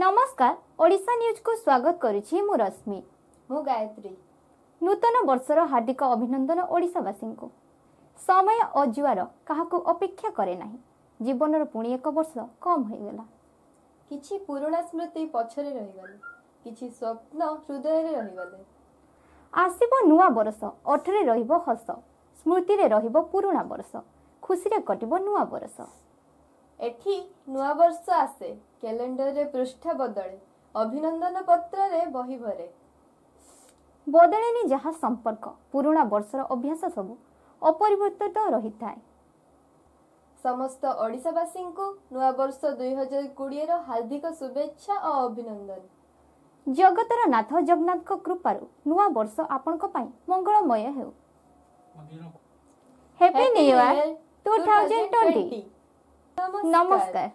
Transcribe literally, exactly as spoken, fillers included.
ନମସ୍କାର, ଓଡ଼ିଶା ନ୍ୟୁଜକୁ ସ୍ୱାଗତ କରୁଛି ମୁଁ ରଶ୍ମି। ମୁଁ ଗାୟତ୍ରୀ। ନୂତନ ବର୍ଷର ହାର୍ଦ୍ଦିକ ଅଭିନନ୍ଦନ ଓଡ଼ିଶାବାସୀଙ୍କୁ। ସମୟ ଓ ଜୁଆର କାହାକୁ ଅପେକ୍ଷା କରେ ନାହିଁ। ଜୀବନର ପୁଣି ଏକ ବର୍ଷ କମ୍ ହୋଇଗଲା। କିଛି ପୁରୁଣା ସ୍ମୃତି ପଛରେ ରହିଗଲେ, କିଛି ସ୍ୱପ୍ନ ହୃଦୟରେ ରହିଗଲେ। ଆସିବ ନୂଆ ବରଷ, ଓଠରେ ରହିବ ହସ, ସ୍ମୃତିରେ ରହିବ ପୁରୁଣା ବରଷ, ଖୁସିରେ କଟିବ ନୂଆ ବରଷ। ଏଠି ନୂଆ ବର୍ଷ ଆସେ, କ୍ୟାଲେଣ୍ଡରରେ ପୃଷ୍ଠା ବଦଳେ, ଅଭିନନ୍ଦନ ପତ୍ରରେ ବହି ଭରେ। ବଦଳେନି ଯାହା ସମ୍ପର୍କ, ପୁରୁଣା ବର୍ଷର ଅଭ୍ୟାସ ସବୁ ଅପରିବର୍ତ୍ତିତ ରହିଥାଏ। ସମସ୍ତ ଓଡ଼ିଶାବାସୀଙ୍କୁ ନୂଆ ବର୍ଷ ଦୁଇ ହଜାର କୋଡ଼ିଏର ହାର୍ଦ୍ଦିକ ଶୁଭେଚ୍ଛା ଓ ଅଭିନନ୍ଦନ। ଜଗତର ନାଥ ଜଗନ୍ନାଥଙ୍କ କୃପାରୁ ନୂଆ ବର୍ଷ ଆପଣଙ୍କ ପାଇଁ ମଙ୍ଗଳମୟ ହେଉ। Happy new year two thousand twenty. ନମସ୍କାର।